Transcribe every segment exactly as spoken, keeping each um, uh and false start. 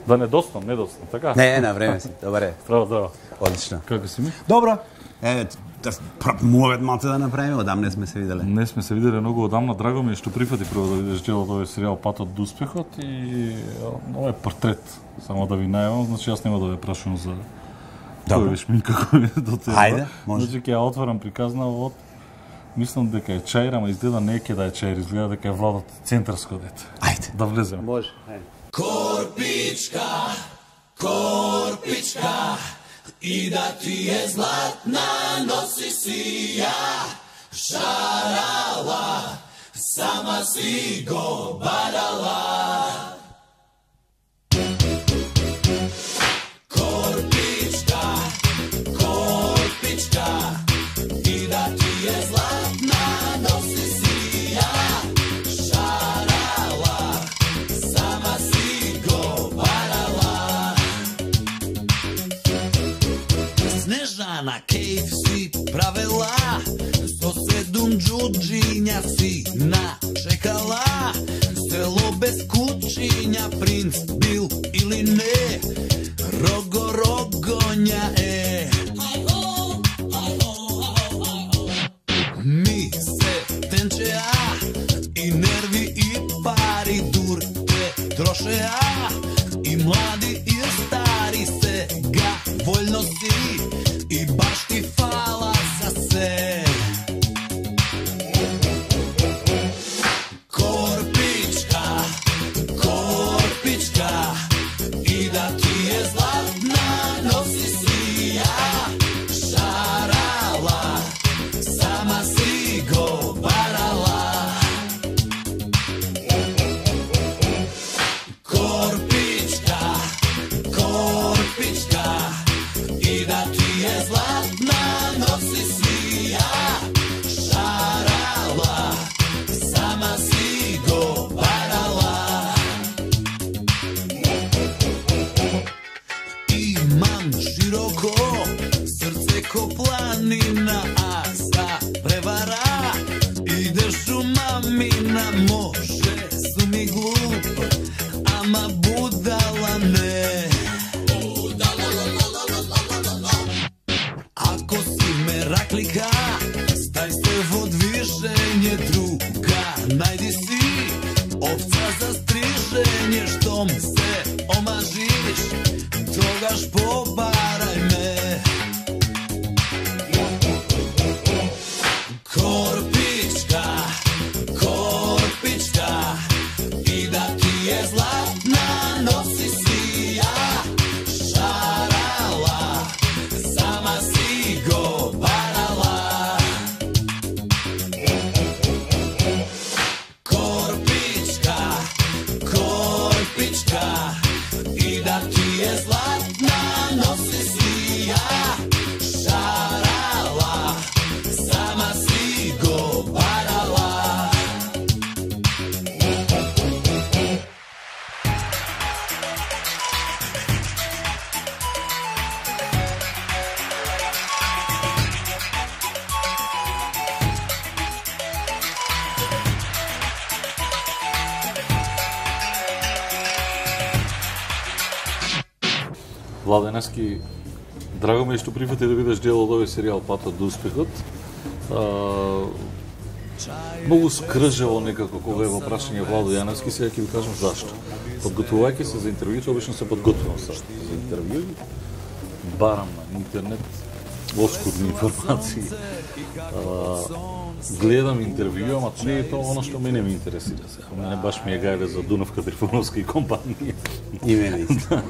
Да не доснам, не доснам, така? Не, на време си. Добре. Здраво, здраво. Одлично. Како си ми? Добро. Е, мовет малце да направиме, одам не сме се виделе. Не сме се виделе многу одамна, драго ми е што прифати прво да видиш делот овој серијал Патот до успехот и овој портрет. Само да ви најавам, значи јас нема да ве прашувам за кој беше Минка кој е до тебе. Хајде, може. Значи ќе ја отворам приказна од мислам дека е чаир, ама изгледа не ќе да е чаир, изгледа дека е Владот центарско дете. Ајде. Да влеземе. Може, ајде. Корпичка, корпичка, и да ти е златна носи си ја, шарала, сама си го барала. Корпичка, корпичка, и да ти е златна носи си ја, шарала, сама си го барала. Снежана кейф си правела, со седум джуджиња си начекала. Село без кучиња, принц бил или не, рого рогоња е. Ми се тенчеа и нерви и пари дур те трошеа, и млади и стари сега вољно си и баш ти фала за се. Корпичка, корпичка, и да ти е златна носи си ја, шарала, сама си го барала. Корпичка, корпичка, и да ти е златна носи си ја, шарала, сама си го барала. Имам широко срце ко планина, а за превара идеш у мамина. Може сум и глуп, ама будала не. Ако си мераклика, стај се во движење, друга најди си овца за стрижење. Штом се омажиш, тогаш побарај ме. Корпичка, корпичка, и да ти е златна носи си ја, шарала, сама си го барала. Корпичка, корпичка, и да ти е златна носи си ја, шарала, сама си го барала. Владенески, драго ми е што прифати да видиш дел од овој серијал Патот до успехот. А, многу скржево некако кога е во прашање Владо Јаневски, сега ќе ви кажам зашто. Подготвувајќи се за интервјуто, обично се подготвувам за интервју, барам на интернет оскудни информации. А, гледам интервју, ама не е тоа оно што мене ме интересира сега. Мене баш ми е гајле за Дунавка Трифоновска и компанија. И мене исто.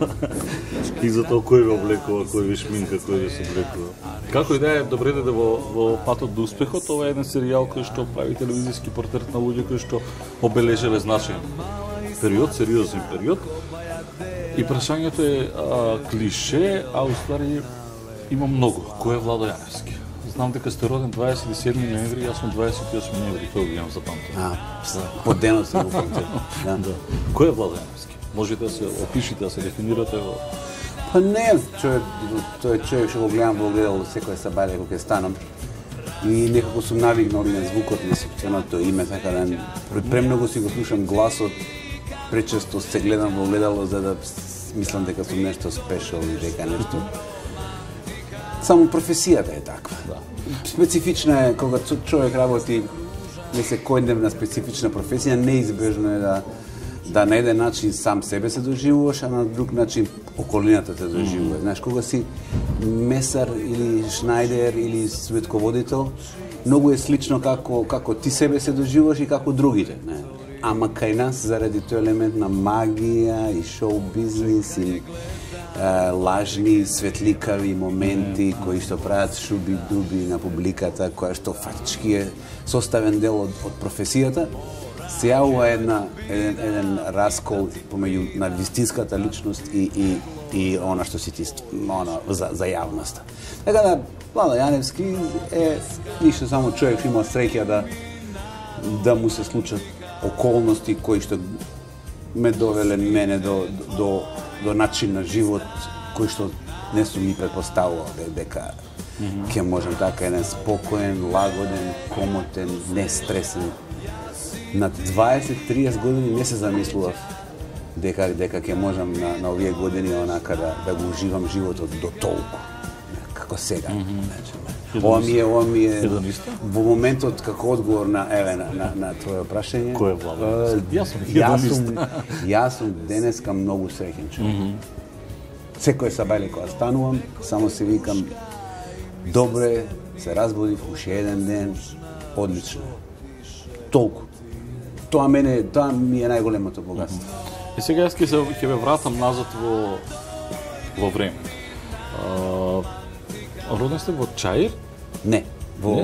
И за тоа кој ве облекува, кој ве шминка, кој ве се облекува. Како и да е, добре да во, во Патот до успехот, ова е еден серијал кој што прави телевизиски портрет на луѓе кои што обележале значаен период, сериозен период. И прашањето е а, клише, а уствари има многу. Кој е Владо Јаневски? Знам дека сте роден дваесет и седми ноември, јас сум дваесет и осми ноември, тоа го имам запамтено. А, по денот се го памтам. Да. Да. Кој е Владо Јаневски? Можете да се опишите, да се дефинирате во... Па не, човек, тој човек што го гледам во огледало секоја сабајле кога ќе станам. И некако сум навигнал и на звукот на сопственото име, така да премногу си го слушам гласот, пречесто се гледам во огледало за да мислам дека сум нешто спешал и дека нешто. Само професијата е таква. Да. Специфична е кога човек работи не се секојдневна специфична професија, неизбежно е да да на еден начин сам себе се доживуваш, а на друг начин околината те доживува. Mm. Знаеш, кога си месар или шнајдер или светководител, многу е слично како како ти себе се доживуваш и како другите, не? Ама кај нас заради тој елемент на магија и шоу бизнис и Uh, лажни, светликави моменти mm. кои што прават шуби дуби на публиката, која што фактички е составен дел од, од професијата, се јавува една еден, еден раскол помеѓу на вистинската личност и и и она што си ти она за за јавноста. Така да Владо Јаневски е ништо само човек има среќа да да му се случат околности кои што ме довеле мене до до до начин на живот кој што не сум ни предпоставувал дека mm-hmm. ќе можам така еден спокоен, лагоден, комотен, нестресен. На дваесет до триесет години не се замислував дека дека ќе можам на, на овие години онака да, да го уживам животот до толку како сега. Mm-hmm. Ова ми е, ова ми е во моментот како одговор на еве на на, на твое прашање. Кој е Владо? Јас сум јас сум јас сум денеска многу среќен човек. Mm-hmm. Секој сабајле кога станувам, само се викам добре, се разбудив уште еден ден, одлично. Толку. Тоа мене, тоа ми е најголемото богатство. Mm-hmm. И сега јас ќе се ќе ве вратам назад во во време. Uh, Роден сте во Чаир? Не, во не?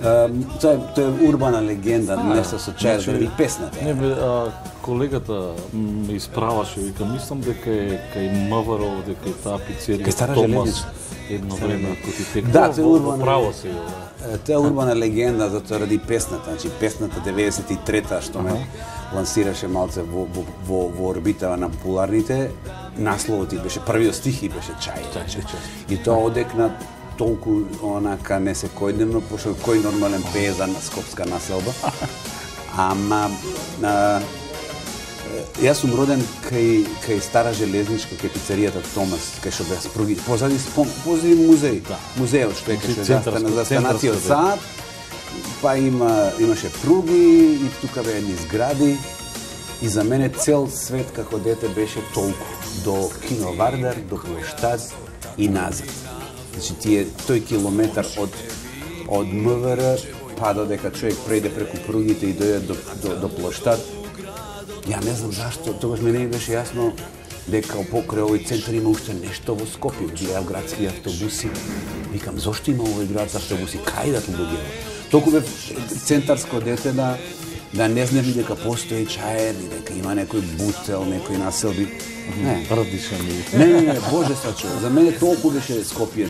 Uh, тоа е, тоа е урбана легенда, а, нешто со Чаир, заради песната. Не, бе, а, колегата ме исправаше, вика, мислам дека е кај Маваро, дека е таа пицерија. Кај Стара железница. Едно време кој ти тек. Да, тоа е урбана. Право се. Тоа е урбана легенда затоа ради песната, значи песната деветдесет и трета што ме uh-huh. лансираше малце во во во, во орбитава на популарните. Насловот и беше првиот стих и беше Чаир. И тоа одекна толку онака не секојдневно, пошто кој нормален пее за скопска населба. Ама а, јас сум роден кај кај Стара железничка, кај пицеријата Томас, кај што беа спруги. Позади позади музеј, да. Музејот што е кај што за станацијот Сад. Па има имаше пруги и тука беа едни згради. И за мене цел свет како дете беше толку до кино Вардар, до плоштад и назад. Значи тие тој километар од од МВР па додека човек прејде преку пругите и дојде до до, до плоштад. Ја не знам зашто, тогаш мене ми беше јасно дека покрај овој центар има уште нешто во Скопје, гледав градски автобуси. Викам зошто има овој град автобуси, кај идат луѓе? Толку бев центарско дете да да не знам дека постои Чаир, дека има некој бутел, некој населби. Не, Радиша ми. Не, не, не, Боже сачува. За мене толку беше Скопје.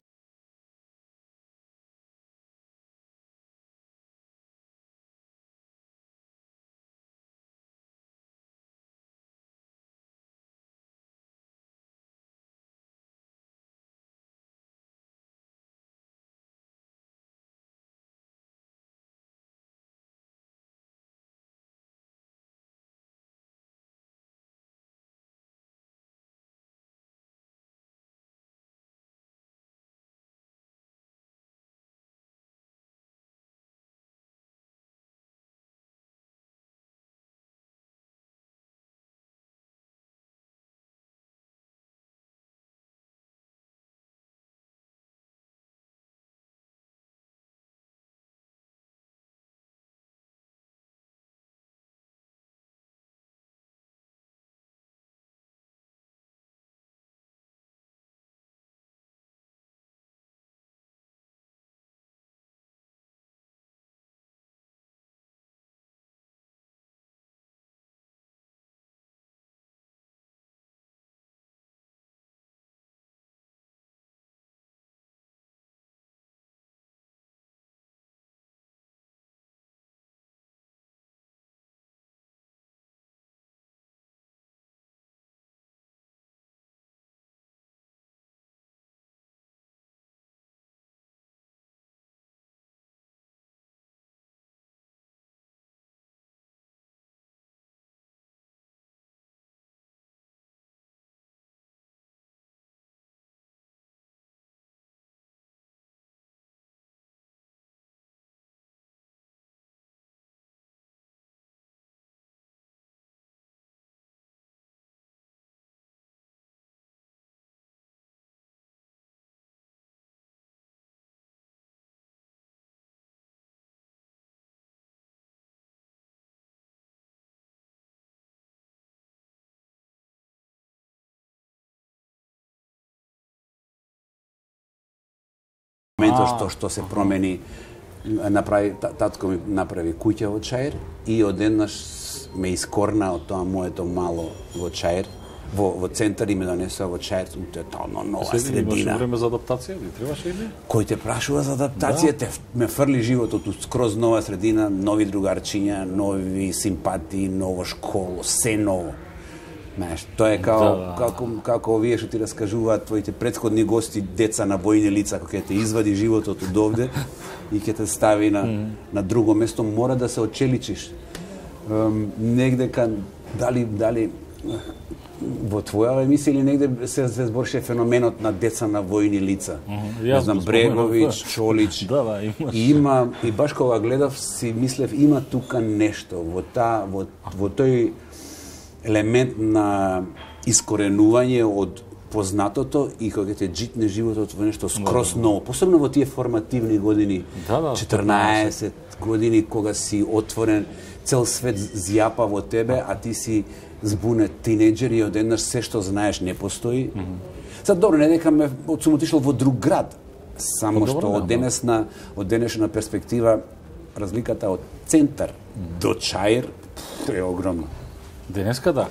моментот што што се промени, направи татко ми направи куќа во Чаир и одеднаш ме искорна од тоа моето мало во Чаир, во во центар и ме донесува во Чаир, тотално нова Седи, имаше средина. време за адаптација, ли требаше или? Кој те прашува за адаптација, те ме фрли животот у скроз нова средина, нови другарчиња, нови симпатии, ново школо, се ново. Знаеш, тоа е као, Да, да. како, како овие што ти раскажуваат твоите претходни гости, деца на војни лица, кој ќе те извади животот од овде и ќе те стави на, mm. на друго место, мора да се очеличиш. Um, негде кан, дали, дали во твоја емисија или негде се, се збореше феноменот на деца на војни лица. Mm -hmm. Не знам, Бреговиќ, Чолич. Да, да, имаш. И има, и баш кога гледав, си мислев, има тука нешто во та, во, во тој елемент на искоренување од познатото и кога ќе те джитне животот во нешто скроз ново, посебно во тие формативни години, Да, да, четрнаесет години, кога си отворен, цел свет зјапа во тебе, а ти си збунет тинеџер и одеднаш се што знаеш не постои. Mm -hmm. Sad, добро, не дека ме сум отишол во друг град, само Добро, што да, од денесна, од денешна перспектива, разликата од центар до Чаир е огромна. Денеска да.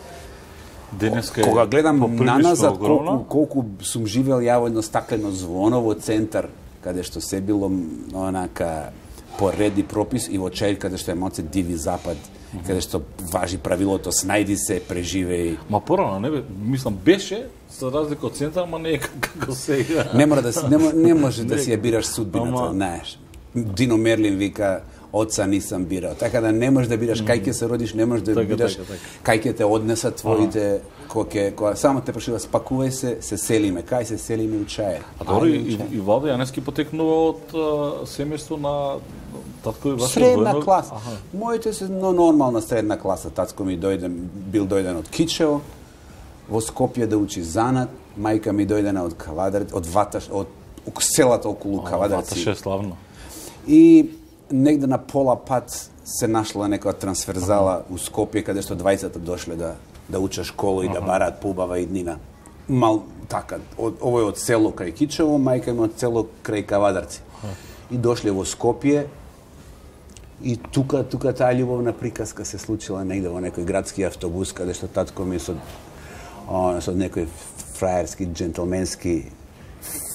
Денеска е Кога гледам поприлично наназад огромна. колку, колку сум живел ја во едно стаклено звоно во центар, каде што се било онака по ред и пропис, и во Чаир каде што е малце диви запад, mm -hmm. каде што важи правилото снајди се, преживеј. Ма порано, не бе, мислам, беше, за разлика од центар, ма не е како сега. Не мора да си, не, не може да си ја бираш судбината, Ама- знаеш. Дино Мерлин вика, оца нисам бирал. Така да не можеш да бираш кај ќе се родиш, не можеш да Така, бираш така, кај ќе те однесат твоите, кој ќе, која само те прошива, спакувај се, се селиме, кај се селиме у Чаир. А добро, Ајде, и, у Чаир. и Владо Јаневски потекнува од а, семејство на татко и ваше Средна војно- класа. Аха. Моите се но нормална средна класа. Тацко ми дојде, бил дојден од Кичево, во Скопје да учи занат, мајка ми дојдена од Кавадарци, од Ваташ, од селата околу Кавадарци. Ваташе е славно. И негде на пола пат се нашла некоја трансферзала у Скопје, каде што двајцата дошле да да учат школа и да бараат поубава иднина. Мал така, од, овој од село крај Кичево, мајка ми од село крај Кавадарци. И дошле во Скопје и тука тука таа љубовна приказка се случила негде во некој градски автобус, каде што татко ми со о, со некој фраерски, джентлменски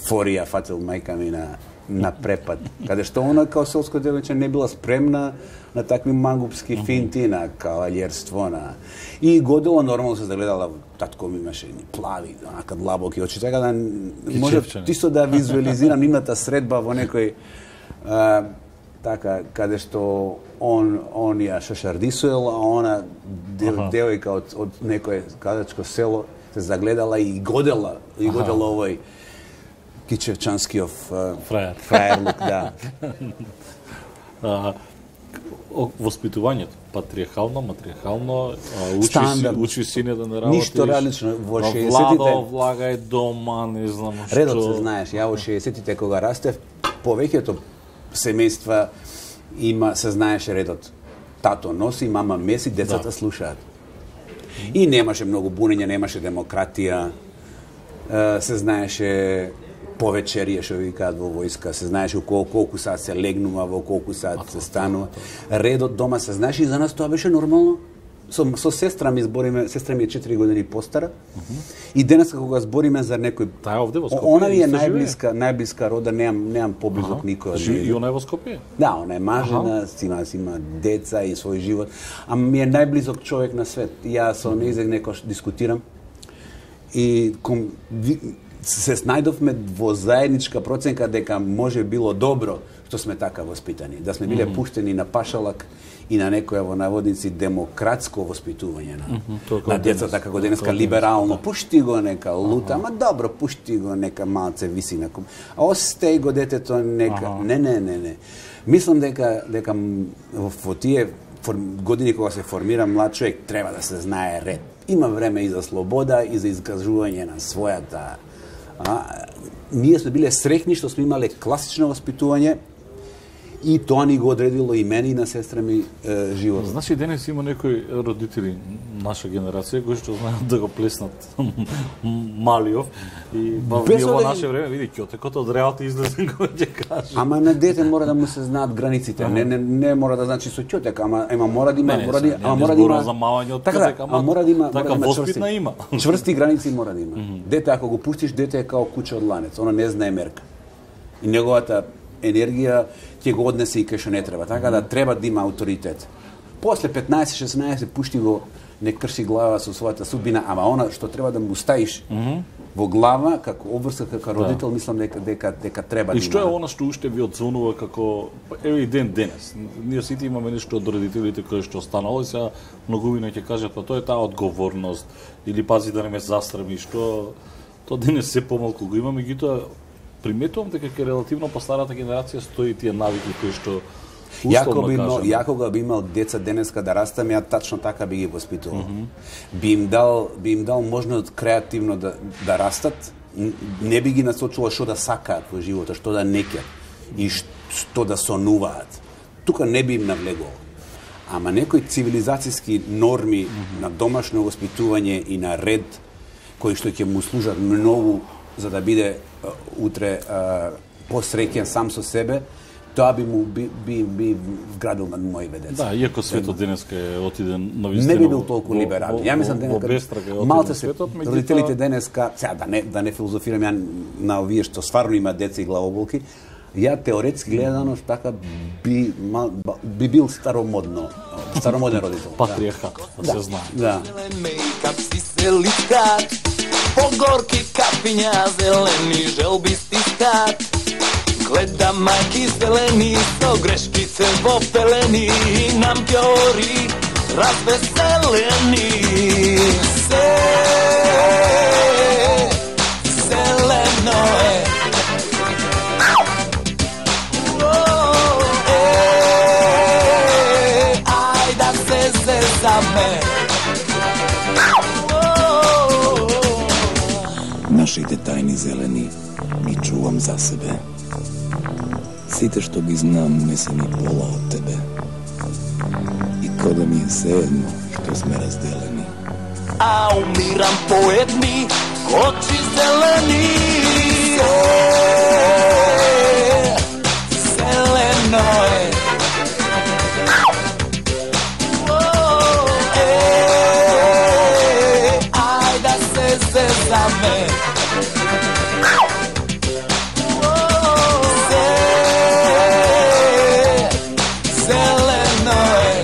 форија фатил мајка ми на на препад, каде што она као селско девојче не била спремна на такви мангупски финти, на кавалјерство, на... И годила нормално се загледала, татко ми имаше ни плави, онака длабоки очи, така да може Кичевчани. чисто да визуализирам нивната средба во некој а, така, каде што он, он ја шашардисуел, а она дев, Аха. девојка од, од некој кадачко село се загледала и годела, и годела овој Кичевчанскиов а, Фраер. фраерлук, да. А, о- воспитувањето, патриархално, матриархално, а, учи, си, Стандард. учи сине да не работиш. Ништо различно. Во А, шеесетите Владо, влагај дома, не знам што. Редот се знаеш, ја во шеесетите кога растев, повеќето семејства има се знаеше редот. Тато носи, мама меси, децата Да. слушаат. И немаше многу бунење, немаше демократија. Е, се знаеше повечерија што викаат во војска, се знаеше кол, колку сат се легнува, во колку сат се станува. Редот дома се знаеше и за нас тоа беше нормално. Со, со сестра ми збориме, сестра ми е четири години постара. И денес кога збориме за некој, Таа е овде во Скопје. она ми е исто живее. најблиска, најблиска рода, немам немам поблизок никој од Живи- И нив. она е во Скопје? Да, она е мажена, си има, си има деца и свој живот, а ми е најблизок човек на свет. И Ја со нејзек некош дискутирам и ком, ви, се снајдовме во заедничка проценка дека може било добро што сме така воспитани, да сме биле mm -hmm. пуштени на пашалак и на некоја во наводници демократско воспитување на, mm -hmm, тоа на како децата денес, како денеска тоа денес, либерално. Пушти го нека лута, ама добро, пушти го нека малце виси на ком. А остај го детето нека. Аха. Не, не, не, не. Мислам дека дека м, во, во тие форм, години кога се формира млад човек треба да се знае ред. Има време и за слобода и за изкажување на својата. А, ние сме биле среќни што сме имале класично воспитување И тоа ни го одредило и мене и на сестра ми е, живот. Значи денес има некои родители, наша генерација, кои што знаат да го плеснат Малиов и ба Без во да- наше време, види, ќотекот од реалти излезе кој ќе каже. Ама на дете мора да му се знаат границите. Не, не, не мора да значи со ќотек, ама ема мора да има, Не, не, мора сега, да, нема ама да мора да има зборувам за мајање од така, ќотек, да, ама ама мора да има, така мора да има воспитна чврсти, има. чврсти граници мора да има. Дете ако го пуштиш, дете е као куче од ланец, оно не знае мерка. И неговата енергија ќе го однесе и кај што не треба, така да треба да има авторитет. После петнаесет шеснаесет пушти го, не крши глава со својата судбина, ама она што треба да му ставиш во глава како обврска како родител, мислам дека дека дека треба И да што е има. она што уште ви одзонува како еве и ден денес? Ние сите имаме нешто од родителите кои што останало и сега многувина ќе кажат па тоа е таа одговорност или пази да не ме застрами, што тоа денес се помалку го имаме, меѓутоа приметувам дека ке релативно по старата генерација стои тие навики кои што Јако условно би имал, кажано. јако го би имал деца денеска да растам, ја тачно така би ги воспитувал. Mm -hmm. Би им дал, би им дал можност креативно да да растат, н- не би ги насочувал што да сакаат во животот, што да не ќат и ш- што да сонуваат. Тука не би им навлегувал. Ама некои цивилизацијски норми mm -hmm. на домашно воспитување и на ред кои што ќе му служат многу за да биде а, утре а, посреќен сам со себе, тоа би му би би, би вградил на моите деца. Да, иако светот денеска е отиден на вистина. Не би бил толку во- либерален. во- Ја мислам во- во дека бестрага е отиден малце се светот, меѓутоа- родителите денеска, сега да не да не филозофирам ја на овие што стварно има деца и главоболки, ја теоретски гледано така би мал, би бил старомодно, старомоден родител. Патриархат, да се знае. Да. Zelen make-up si se litrat Pogorki kapinja zeleni želbisti stat Gleda majki zeleni so greškice vo peleni I nam pjori razveseleni Se zeleno je Oh, e, aj da se zezame Нашите тајни зелени ги чувам за себе. Сите што ги знам не се ни пола од тебе. И кода ми е sejedno што сме разделени. A umiram po jedni oči zeleni Zeleno je Oh, e, aj da se zezame Oh, se, zeleno je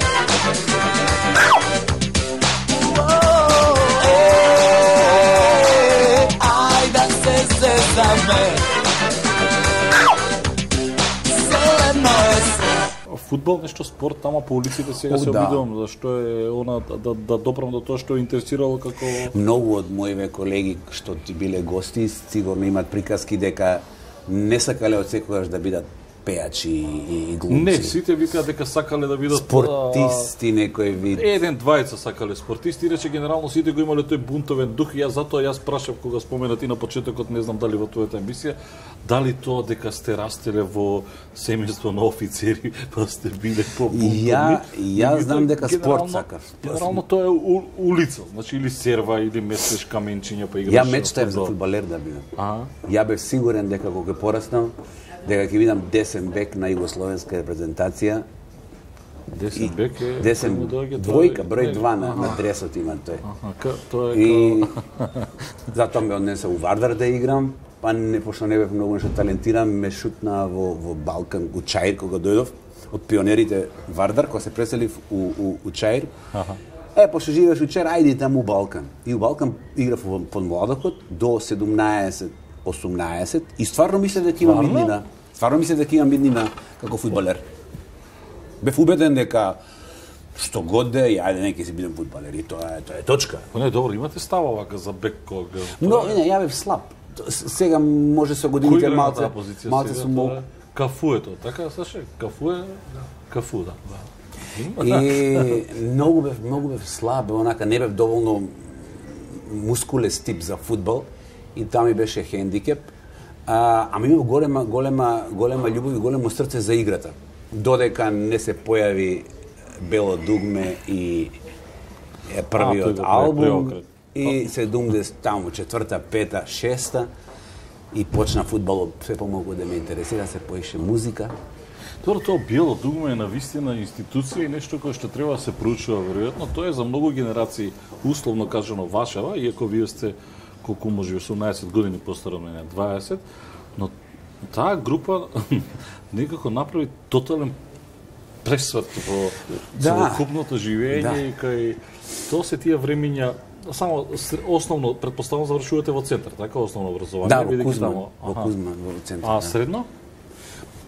Aj da se zezame Zeleno je Фудбал нешто спорт тама по улиците сега О, се да. обидувам зашто е она да, да, да допрам до тоа што е интересирало како Многу од моите колеги што ти биле гости сигурно имаат приказки дека не сакале од секогаш да бидат пејачи и, и глумци. Не, сите викаат дека сакале да видат спортисти некој вид. Еден двајца сакале спортисти, рече генерално сите го имале тој бунтовен дух и јас затоа јас прашав кога спомена ти на почетокот, не знам дали во твојата емисија, дали тоа дека сте растеле во семејство на офицери, па сте биле по бунтовни. Ја- ја знам дека спорт Генерално- сакаш. Генерално тоа е у, улица, значи или серва или месеш каменчиња па играш. Ја мечтаев за фудбал. фудбалер да бидам. Аха. Ја бев сигурен дека кога ќе пораснам, дека ќе видам десен бек на југословенска репрезентација. Десен бек е Десен кој му доаѓа, тоа двојка, е- број нели? два на, Аха. на дресот има тој. Аха, ка- тоа е И као... затоа ме однесе у Вардар да играм, па не пошто не бев многу нешто талентиран, ме шутна во во Балкан, у Чаир кога дојдов од пионерите Вардар, кога се преселив у у, у Чаир. Аха. Е, пошто живееш у Чаир, ајде таму у Балкан. И у Балкан играв во под младокот до седумнаесет осумнаесет и стварно мислев дека имам Стварно? иднина. Стварно мислев дека имам иднина како фудбалер. Бев убеден дека што god да е, ајде нека си бидам фудбалер и тоа е тоа е точка. Па не, добро, имате става вака за бек кога... Но не, ја бев слаб. С- Сега може со годините игра на малце таа позиција малце сега? сум мол. Тоа е Кафуето, така слушај, кафуе, кафу, да. да. И многу бев многу бев слаб, онака не бев доволно мускулест тип за фудбал и тоа ми беше хендикеп. А, ама имав голема голема голема љубов и големо срце за играта. додека не се појави Бело дугме и е првиот А, албум преокрет. и седумдесет таму четврта, пета, шеста и почна фудбалот се помалку да ме интересира, се поише музика. Тоа тоа Бело дугме е навистина институција и нешто кое што треба да се проучува веројатно. Тоа е за многу генерации, условно кажано вашава, иако вие сте колку може осумнаесет години постар од мене, дваесет, но таа група некако направи тотален пресвет во Да. целокупното живење Да. и кај тоа се тие времиња. Само с- основно претпоставувам завршувате во центар, така основно образование, Да, во бидејќи Кузман, таму- во аха. Кузман, во центар. А да. средно?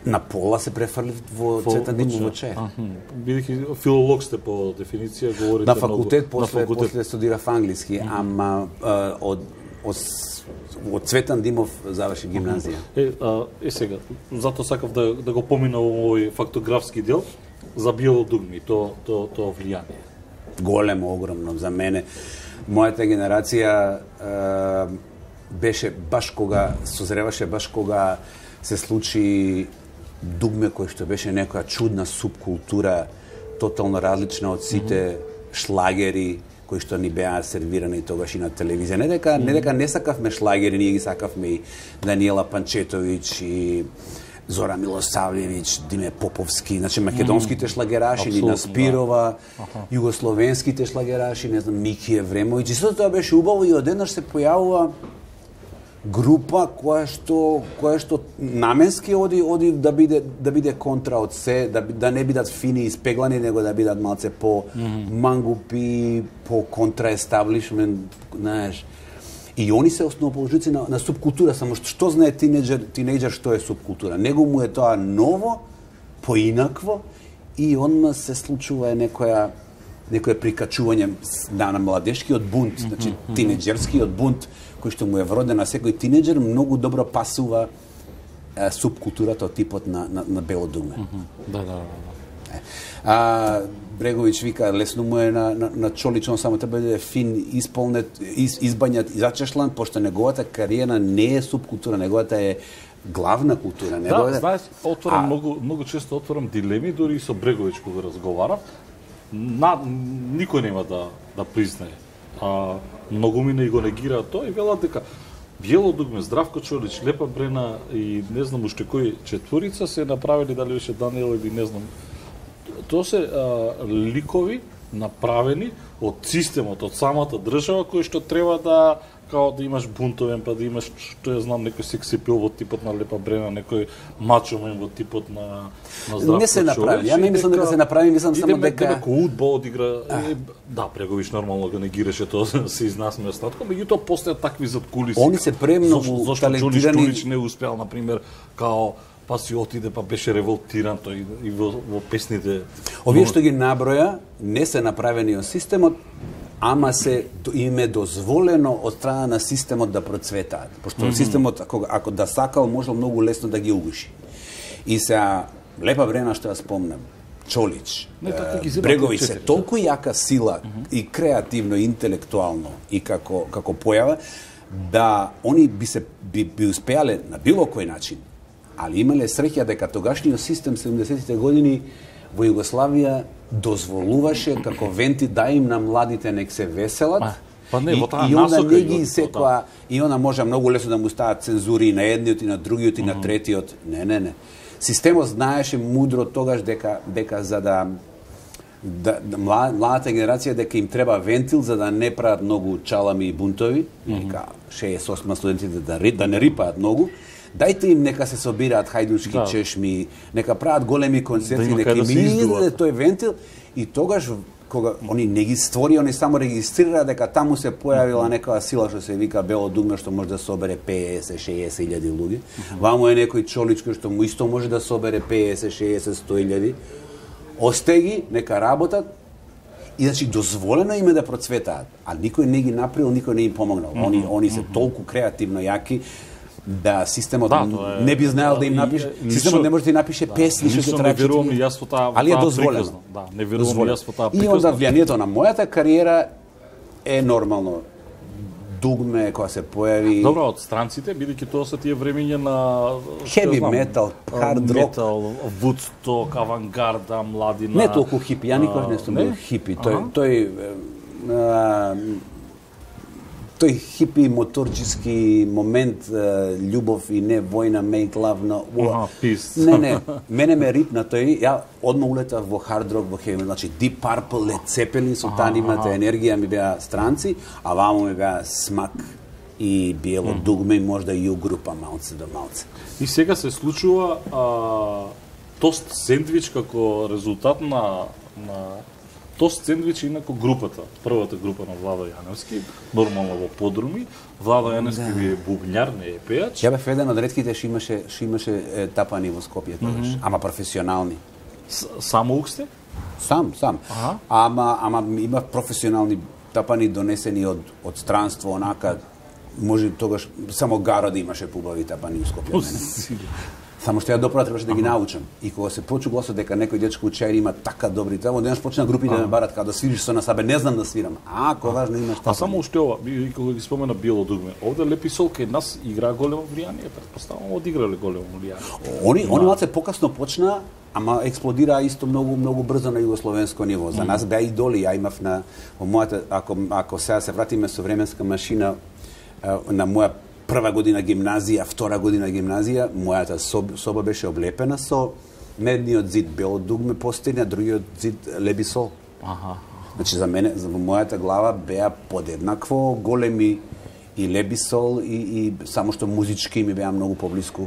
На пола се префрлив во Цветан Димов во Чај. Бидејќи филолог сте по дефиниција, говорите На факултет, многу. после, после студирав англиски, ама а, од, од, од Цветан Димов заврши гимназија. Е, а, е сега, затоа сакав да, да го поминам овој фактографски дел за Бело дугме, то, то, то влијание. Големо, огромно за мене. Мојата генерација е, беше баш кога созреваше, баш кога се случи дугме кој што беше некоја чудна субкултура, тотално различна од сите шлагери кои што ни беа сервирани тогаш и на телевизија. Не дека не дека не сакавме шлагери, ние ги сакавме и Даниела Панчетовиќ и Зора Милосавлjević, Диме Поповски, значи македонските шлагераши, Нина Апсолутно, Спирова, југословенските шлагераши, не знам, Мики Евремовиќ. И сето тоа беше убаво и одеднаш се појавува група која што која што наменски оди оди да биде да биде контра од се, да би- да не бидат фини и спеглани, него да бидат малце по мангупи, по контра естаблишмент, знаеш. И они се основоположници на, на субкултура, само што, што знае тинеџер, тинеџер што е субкултура. Него му е тоа ново, поинакво и онма се случува е некоја некое прикачување на, на младешкиот бунт, значи тинеџерскиот бунт кој што му е вроден на секој тинеџер, многу добро пасува е, субкултурата од типот на, на, на Бело дугме. Да, да, да. да. А Бреговиќ вика лесно му е на, на, на Чолич, он само треба да е фин, исполнет, из, избањат, зачешлан, пошто неговата кариера не е субкултура, неговата е главна култура. Да, Неговата... знаеш, отворам А- многу многу често отворам дилеми, дури и со Бреговиќ кога разговарав. На, никој нема да да признае. А многу мина и го негираат тоа и велат дека Бело дугме, Здравко Чолич, Лепа Брена и не знам уште кој четворица се направили, дали беше Даниел или не знам. Тоа се а, ликови направени од системот, од самата држава, кои што треба да као да имаш бунтовен, па да имаш, што ја знам, некој секси пил во типот на Лепа Брена, некој мачомен во типот на, на Здравко Не се направи. Ја не мислам дека се направи, мислам само идеме, дека- дека Удба одигра. Е, да, Бреговиќ нормално го негираше тоа, се изнасме остатко, меѓутоа постојат такви задкулиси. Они се премногу Зошто- Зошто Џониш талентирани- Џулич не успеал, например, као па си отиде, па беше револтиран тој и во, во песните. Овие што ги наброја не се направени од системот, ама се им е дозволено од страна на системот да процветаат. Пошто mm -hmm. системот, ако, ако да сакал, можел многу лесно да ги угуши. И сега, Лепа Брена, што ја спомнам, Чолич, Не, така ги е, земат Бреговиќ од се четири, толку јака сила mm -hmm. и креативно, и интелектуално и како, како појава, да они би се би, би успеале на било кој начин, али имале среќа дека тогашниот систем седумдесетите години во Југославија дозволуваше како венти да им на младите нек се веселат. А, па не, во таа и, и onda насока не и ги од- секоја, и она може многу лесно да му стават цензури и на едниот и на другиот и на третиот. Не, не, не. Системот знаеше мудро тогаш дека дека за да да, да мла- младата генерација дека им треба вентил за да не прават многу чалами и бунтови, дека шеесет осма студентите да, ри- да не рипаат многу. Дајте им нека се собираат хајдучки Да. чешми, нека прават големи концерти, Да има нека кај да им се издаде издуват. тој вентил и тогаш кога они не ги створи, они само регистрира дека таму се појавила некоја сила што се вика Бело дугме што може да собере петдесет шеесет илјади луѓе. Ваму е некој Чолич кој што му исто може да собере петдесет шеесет сто илјади. Осте ги, нека работат. И значи дозволено им е да процветаат, а никој не ги направил, никој не им помогнал. Они они се толку креативно јаки да системот Да, тоа е- не би знаел да им и- напише, и- системот лично- не може да им напише песни што ќе Лично не траат верувам и четири- јас во таа, во али е таа дозволено. приказна. Да, не верувам и Дозволено. јас во таа И приказна. онда влијанието на мојата кариера е нормално дугме кога се појави. Добро, од странците, бидејќи тоа се тие времења на Heavy metal, hard rock. Метал, Woodstock, авангарда, младина. Не толку хипи, ја никош не сум бил хипи. Тој тој а, тој хипи моторчиски момент, љубов и не војна, make love, no. Аха, peace. Не, не, мене ме рипна тој, ја одма улетав во hard rock, во heavy, значи Deep Purple, Led Zeppelin, со таа нивната енергија ми беа странци, а вамо ми беа Смак и Биело дугме и можда и Ю група малце до малце. И сега се случува а, тост сендвич како резултат на, на тост сендвич и инако групата, првата група на Владо Јановски, нормално во подруми. Владо Јановски ви е бубњар, не е пејач. Ја бев еден од ретките што имаше што имаше е, тапани во Скопје тогаш, mm -hmm. ама професионални. С, само ук сте? Сам, сам. Ага. Ама ама има професионални тапани донесени од од странство, онака може тогаш само Гаро да имаше побави тапани во Скопје мене. Само што ја допра требаше да ги научам. И кога се почу гласот дека некој дечко учај има така добри тамо, денес почна групите да ме барат како да свириш со нас, абе не знам да свирам. А, кога важно имаш А само уште ова, би кога ги спомена Биело дугме, овде Лепи Сол кај нас игра големо влијание, претпоставувам одиграле големо влијание. Они они малце покасно почна, ама експлодира исто многу многу брзо на југословенско ниво. За нас беа идоли, ја имав на во мојата, ако ако сега се вратиме со временска машина на моја прва година гимназија, втора година гимназија, мојата соба, соба беше облепена со медниот зид Бело дугме постелја, другиот зид Лепи Сол. Аха. Значи за мене, за во мојата глава беа подеднакво големи и Лепи Сол и, и само што музички ми беа многу поблиску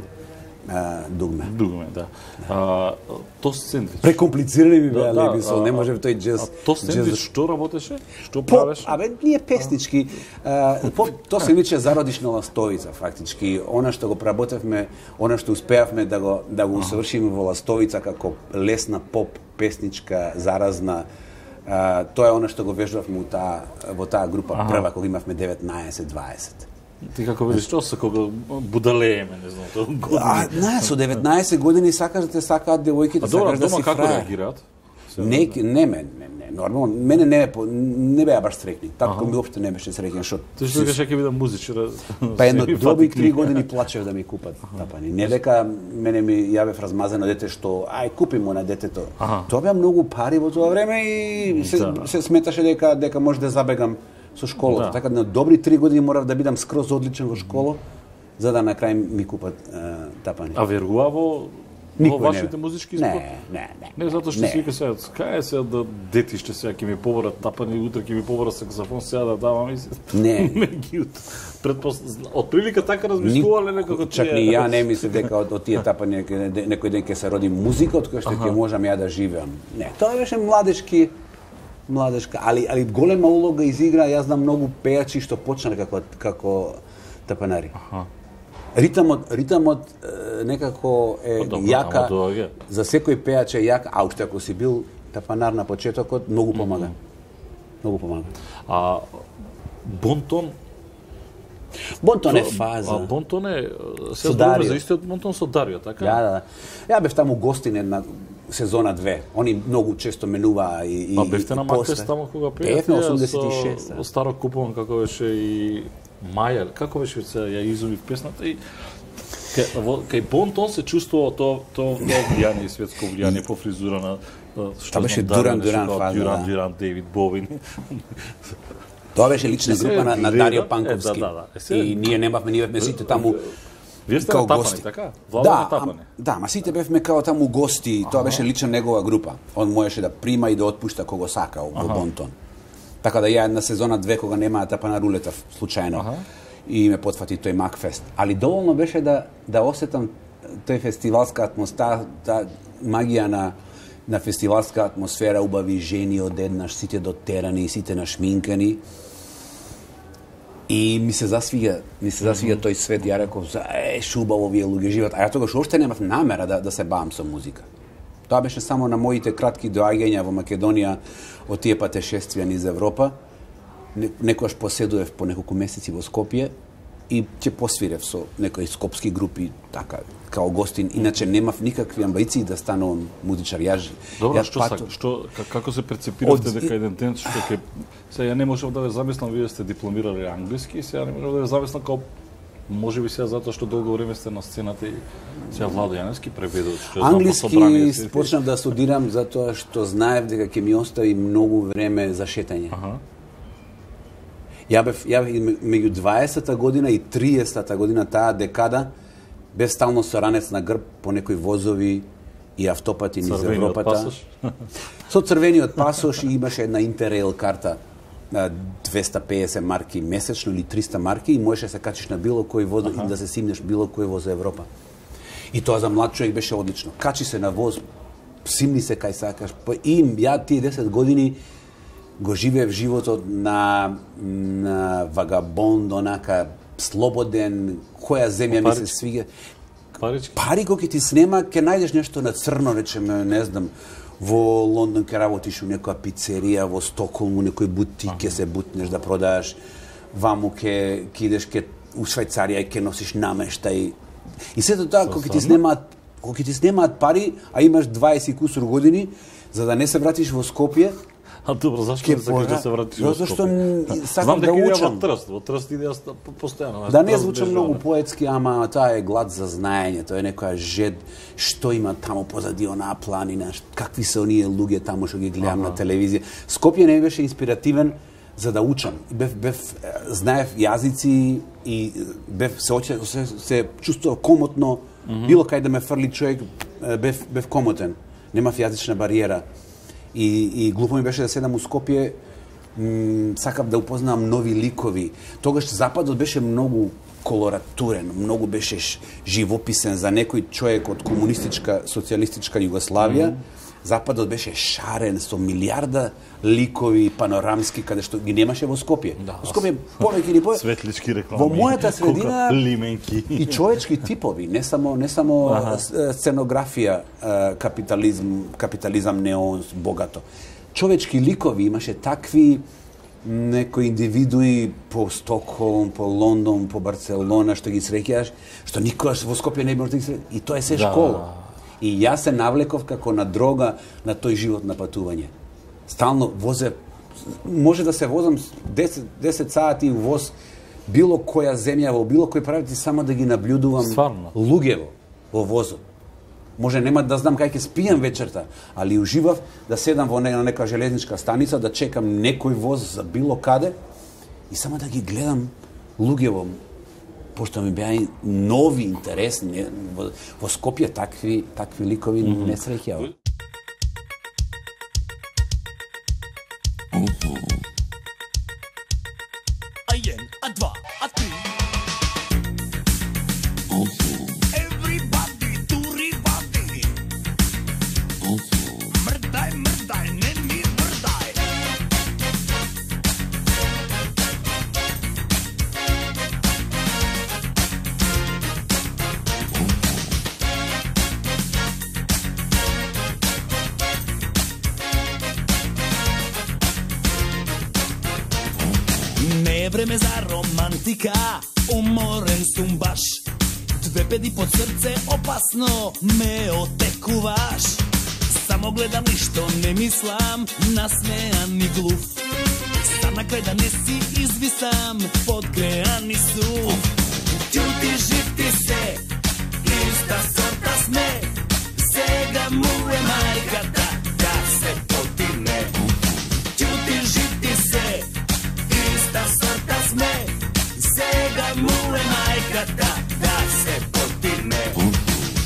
а, дугме. Дугме, да. А, тост сендвич. Прекомплицирани ми беа да, Лепи Сол, а, не може тој джез. А тост сендвич што работеше? Што По, правеше? абе, ние песнички, а, по, то се виче зародишна ластовица, фактички. Она што го преработевме, она што успеавме да го, да го усовршиме во ластовица како лесна поп, песничка, заразна, а, тоа е она што го вежбавме во таа, во таа група ага. прва, кога имавме деветнаесет дваесет. Ти како видиш, што се кога будалееме, не знам, тоа години. А, не, со деветнаесет години сакаш да те сакаат девојките, сакаш да си како фраер. реагираат? Не, не, не, не, не, нормално, мене не, не беа баш срекни. Татко ми уопште не беше среќен, што... Ти што кажеш ќе бидам музичар? Па едно добри три години плачев да ми купат тапани. Не дека мене ми ја бев размазано дете што ај купи му на детето. Тоа беа многу пари во тоа време и се, да. се сметаше дека дека може да забегам со школата. Да. Така на добри три години морав да бидам скроз одличен во школа за да на крај ми купат uh, тапани. А верува во во вашите музички спот? Не, не, не. Не, затоа што си вика сега, кај е сега да детиште сега ќе ми побарат тапани, утре ќе ми побарат саксофон, сега да давам и не. Ме ги предпос од прилика така размислувале некако тие. Чак ни ја не мислев дека од, од тие тапани некој ден ќе се роди музика од која што ќе можам ја да живеам. Не, тоа беше младешки младешка, али али голема улога изигра, јас знам многу пејачи што почнале како како тапанари. Аха. Ритамот, ритамот е, некако е Добро, јака, доаѓа. за секој пејач е јак, а уште ако си бил тапанар на почетокот, многу помага. Mm -hmm. Многу помага. А Бонтон Бонтон е фаза. А Бонтон е се зборува за истиот Бонтон со Дарио, така? Да, да, да. Ја бев таму гостин една сезона две. Они многу често менуваа и и Па бевте на Макес таму кога пеев? Бев на осумдесет и шест. Со Старо Купон како беше и Маја, како беше се ја изумив песната и кај, во, кај Бонтон се чувствува тоа тоа влијание, светско влијание по фризура на што беше Дуран Дуран фаза. Дуран Дуран, Дейвид Бовин. Тоа беше лична група на, на Дарио Панковски. Е, да, да, да. И ние немавме, ние бевме сите таму. Вие сте на Тапани, така? Владо да, на Тапани. Да, ма сите бевме као таму гости, тоа беше лична негова група. Он можеше да прима и да отпушта кого сака во Бонтон. Така да ја една сезона две кога немаа Тапана рулетав случајно. Ага. И ме потфати тој Макфест. Али доволно беше да да осетам тој фестивалска атмосфера, та магија на на фестивалска атмосфера, убави жени одеднаш, сите дотерани, сите нашминкани. И ми се засвига, ми се засвига тој свет, ја реков, е, шубаво вие луѓе живеат. А ја тогаш уште немав намера да да се бавам со музика. Тоа беше само на моите кратки доаѓања во Македонија од тие патешествија низ Европа. Некојаш поседував по неколку месеци во Скопје и ќе посвирев со некои скопски групи, така, као гостин. Иначе немав никакви амбиции да станувам музичар. Јас, Добро, јас што пато... сак, што како се перцепиравте Од- дека еден ден што ќе сега ја не можев да ве замислам, вие сте дипломирали англиски, сега не можев да ве замислам како можеби сега затоа што долго време сте на сцената и сега Владо Јаневски преведува што знам по собрание. Англиски почнав да студирам затоа што знаев дека ќе ми остави многу време за шетање. Аха. Ја бев, ја бев меѓу дваесетта година и триесетта година, таа декада, бев стално со ранец на грб по некои возови и автопати низ Црвениот Европата. пасош. Со црвениот пасош и имаше една Интеррейл карта на двесте и песет марки месечно или триста марки и можеше да се качиш на било кој воз и да се симнеш било кој воз за Европа. И тоа за млад човек беше одлично. Качи се на воз, симни се кај сакаш. Па и ја тие десет години го живеев животот на, на вагабонд, онака слободен, која земја ми се Парички. свига. Парички. Пари кој ќе ти снема, ќе најдеш нешто на црно, речеме, не знам, во Лондон ќе работиш у некоја пицерија, во Стоколм у некој бутик ќе се бутнеш да продаваш, ваму ќе ќе идеш ке у Швајцарија и ќе носиш намештај. И сето тоа кога ќе ти снемаат, кога ќе ти снемаат пари, а имаш дваесет и кусур години, за да не се вратиш во Скопје, А добро, зашто Ке не сакаш да пора- се вратиш во Затоа што Скопје? н- сакам Знам да дека идеја учам. во Трст, во Трст идеја ста- по- постојано. да не Трст звучам беше многу она. поетски, ама таа е глад за знаење, тоа е некоја жед, што има таму позади онаа планина, ш- какви се оние луѓе таму што ги гледам на телевизија. Скопје не беше инспиративен за да учам. И Бев, бев, е, знаев јазици и е, бев се оче, се, се чувствував комотно, било кај да ме фрли човек, е, бев, бев комотен. Немав јазична бариера. И, и глупо ми беше да седам у Скопје, м, сакав да упознавам нови ликови. Тогаш Западот беше многу колоратурен, многу беше ш- живописен за некој човек од комунистичка, социјалистичка Југославија. Западот беше шарен со милиарда ликови панорамски каде што ги немаше во Скопје. Во Скопје повеќе или повеќе Светлички реклами. Во мојата средина Кока, лименки. и човечки типови, не само не само с- сценографија, е, капитализм, капитализам неон богато. Човечки ликови имаше такви некои индивидуи по Стокхолм, по Лондон, по Барселона што ги среќаш, што никогаш во Скопје не може да ги среќаш. И тоа е се Да. школа. И јас се навлеков како на дрога на тој живот на патување. Стално возе, може да се возам десет, десет сати у воз било која земја, во било кој правити, само да ги наблюдувам Стварно? луѓето во возот. Може нема да знам кај ќе спијам вечерта, али уживав да седам во не- на нека железничка станица, да чекам некој воз за било каде и само да ги гледам луѓето, пошто ми беа и нови, интересни. Во, во Скопје такви, такви ликови mm -hmm. не среќава. A jen, a dva, a tri. Everybody, turibody. Mrdaj, mrdaj, ne mi mrdaj. Не е време за романтика, уморен сум баш. Две педи под срце, опасно ме отекуваш. Само гледам ништо не мислам, насмеан и глув. Сам на крај да не си извисам, подгреан и сув. Ќути жив ти се, иста сорта сме. Сега му е мајката да се потине. Ќути жив ти се, иста сорта сме. Сега му е мајката да се потине.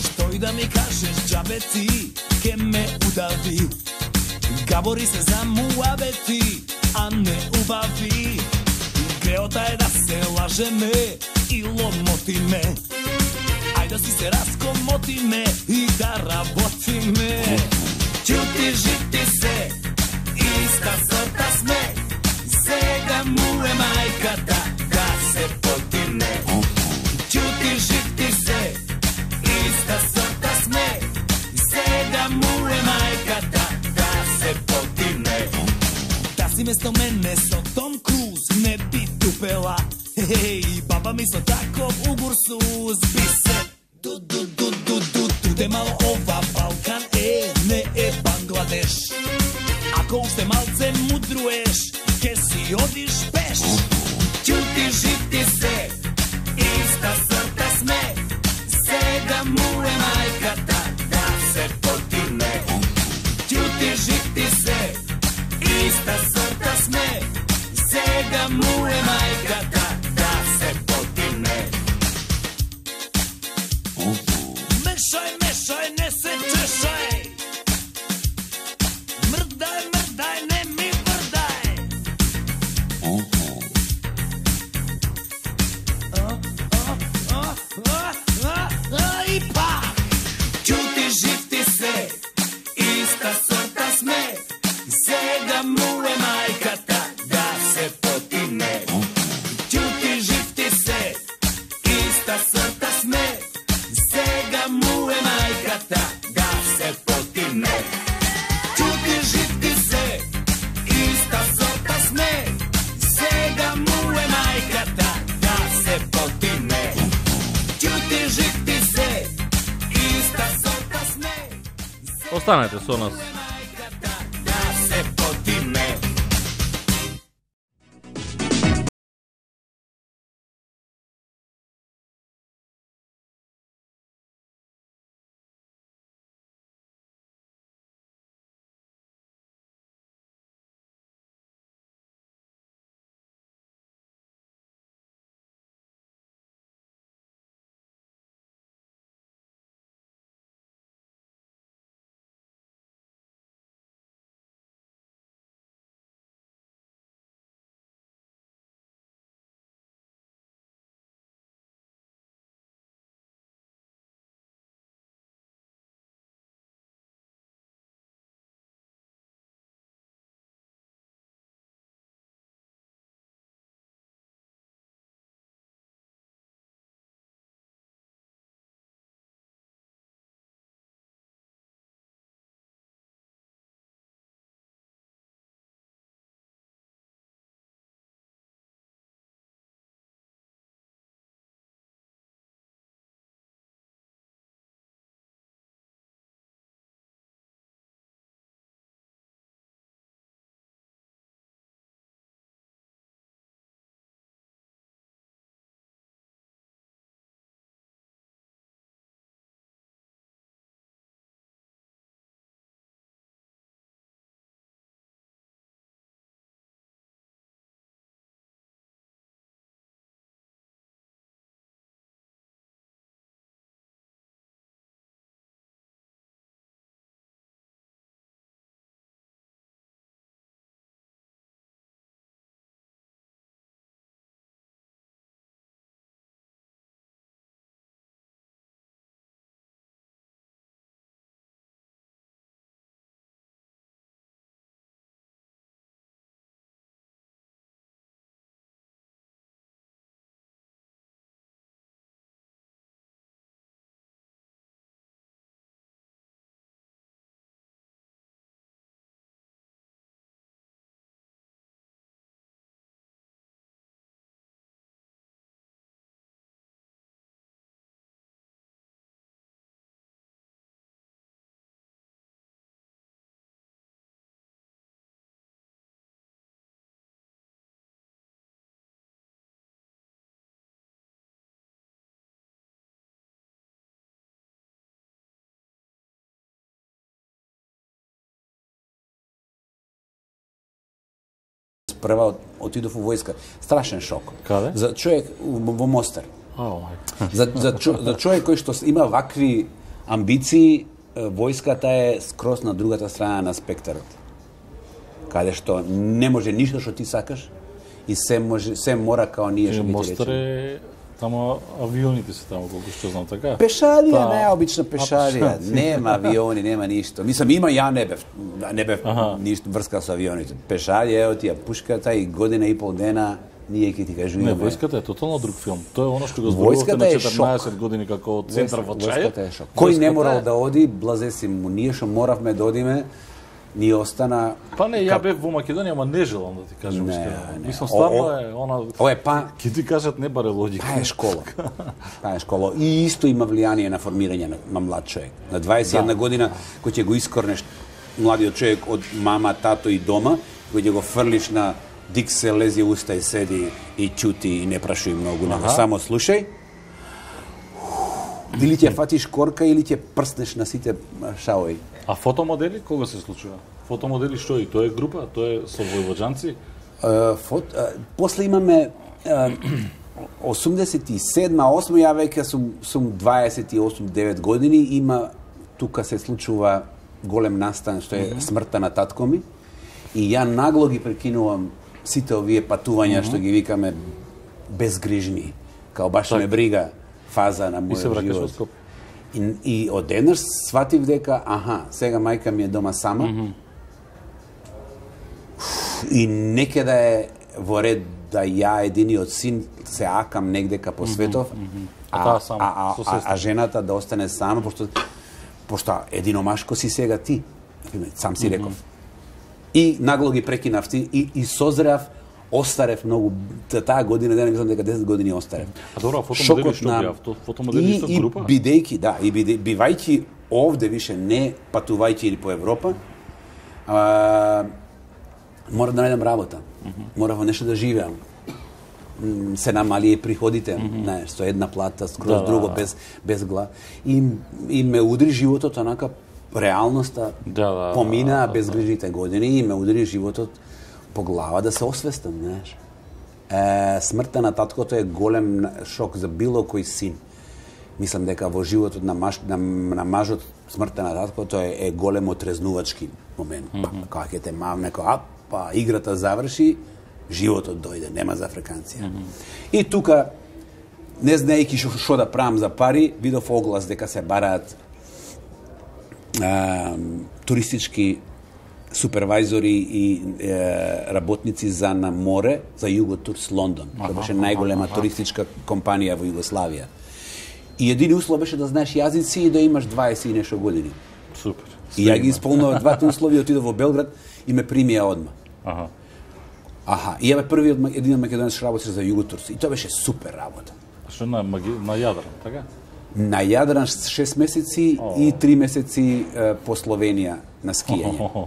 Што и да ми кажеш, џабе ти ке ме удави. Габори се за муабети, а не убави. Греота е да се лажеме и ломотиме. Ајде да си се раскомотиме и да работиме. Ќути жив ти се, иста сорта сме. Сега му е мајката да се потине. Ќути жив ти се, иста сорта сме. Сега му е мајката да се потине. Да си место мене со Том Круз, ne bi tupela. Hej, baba mi so tako u gursu zbi se. Du, du, du, du, du, du, de malo ova Balkan, e, ne e Bangladeš. Ako ušte malce mudruješ, ke si odiš peš. Ćuti, žiti se, ista sorta sme. Сега му е майката да се потине. Ćuti, žiti se, ista sorta sme. Сега му е майката да се потине. Мешай, мешай, не се чешай. Мрдай, мрдай, не ми върдай. И пак. Ćuti, žiti se, ista sorta sme. Сега му е майката да се потине. Ćuti, žiti se, ista sorta sme. Сега му е майката да се потине. Ćuti, žiti se, ista sorta sme. Сега му е майката да се потине. Ćuti, žiti se, ista sorta sme. Останете со нас. Да се потине. Прва отидов во војска. Страшен шок. Каде? За човек во Мостар. Ао, За, за, чо, за човек кој што има вакви амбиции, војската е скроз на другата страна на спектарот. Каде што не може ништо што ти сакаш и се може се мора као ние што би ти Мостар речеме. е тамо авионите се тамо колку што знам така. Пешалија, Та- најобична пешалија. А, Нема авиони, нема ништо. Мислам, има, ја не бев, не бев Аха. ништо врска со авионите. Пешалија, ево ти ја пушката и година и пол дена ние ќе ти кажуваме. Не, војската е тотално друг филм. Тоа е оно што го зборувавте Војската на е четрнаесет шок. години како центар во чај. Војската е шок. Кој не Војската морал е- да оди, блазе си му, ние што моравме да одиме, ни остана... Па не, ја бев во Македонија, ама не желам да ти кажам Не, искрено. не. Мислам, стварно О, о, е, она... Ова е па... Ке ти кажат, не баре логика. Таа е школа. Таа е школа. И исто има влијание на формирање на, на млад човек. На дваесет и една Да. година, кој ќе го искорнеш младиот човек од мама, тато и дома, кој ќе го фрлиш на диксе, лези уста и седи и чути и не прашуј многу, него само слушај. Или ќе фатиш корка, или ќе прснеш на сите шаои. А фотомодели кога се случува? Фотомодели што и тоа е група, тоа е со војвоđанци. Uh, фот, uh, после имаме uh, осумдесет и седма, осма, ја веќе сум, сум дваесет и осум девет години, има, тука се случува голем настан, што е смртта на татко ми, и ја нагло ги прекинувам сите овие патувања, што ги викаме безгрижни, као баш ме брига фаза на И се мојот вракаш во живот. Скопје. И, и одеднаш сватив дека, аха, сега мајка ми е дома сама, mm -hmm. и некаде е во ред да ја единиот син се акам негдека по светов, mm -hmm. А а, таа сама, а, а, со а, сестра. а жената да остане сама, пошто, пошто единомашко си сега ти, сам си реков. И нагло ги прекинав ти, и, и созреав, остарев многу, таа година, дена мислам дека десет години остарев. А добро, а фотомодели што беа? Фотомодели и, со и група? бидејќи, да, и биде, бивајќи овде више, не патувајќи по Европа, а, мора да најдам работа. Mm -hmm. Мора во нешто да живеам. М, се намали приходите, mm -hmm. знаеш, со една плата, скроз Да, да, друго, да. без, без глава. И, и ме удри животот, онака, реалноста Да, да, помина да, да, без да. грижите години и ме удри животот по глава да се освестам, знаеш. Е, смртта на таткото е голем шок за било кој син. Мислам дека во животот на, маж, на, на мажот смртта на таткото е, е голем отрезнувачки момент. Mm -hmm. Па, кога ќе те мавне, кога, па, играта заврши, животот дојде, нема за африканција. Mm -hmm. И тука, не знаејќи што, што да правам за пари, видов оглас дека се бараат а, туристички супервајзори и е, работници за на море, за Юготурс Лондон. Тоа беше најголема туристичка компанија во Југославија. И едини услов беше да знаеш јазици и да имаш дваесет и нешто години. Супер. И ја ги исполнував двата услови, отидов во Белград и ме примија одма. Аха. Аха, и ја бе првиот ма- единот македонец што работеше за Юготурс. И тоа беше супер работа. Што на маги... на Јадран, така? На Јадран шест месеци и три месеци е, по Словенија на скијање.